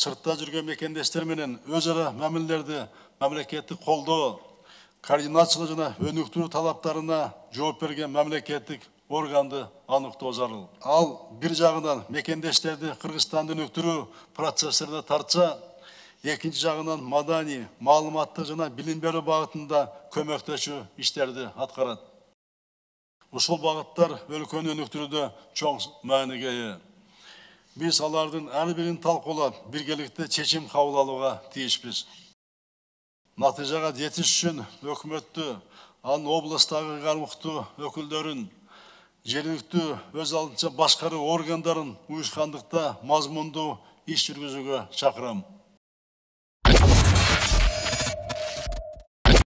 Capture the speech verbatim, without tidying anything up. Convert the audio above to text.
сыртта жүрген мекендештер менен өз ара мамилелерди мамлекеттик колдоо, координациялоо жана өнүктүрүү талаптарына жооп берген мамлекеттик органды аныктоо зарыл. Ал бир жагынан мекендештерди Кыргызстанды өнүктүрүү процесстерине тартса, экинчи жагынан маданий, маалыматтык жана билим берүү багытында көмөктөшүү иштерди аткарат. Ушул багыттар өлкөнү өнүктүрүүдө чоң мааниге ээ. Биз алардын ар бирин талкуулап, биргеликте чечим кабыл алууга тийишпиз. Натыйжага жетиш үчүн өкмөттү, анын облустагы кармыктуу өкүлдөрүн, жергиликтүү өз алдынча башкаруу органдарын уюшкандыкта мазмундуу иш жүргүзүүгө чакырам.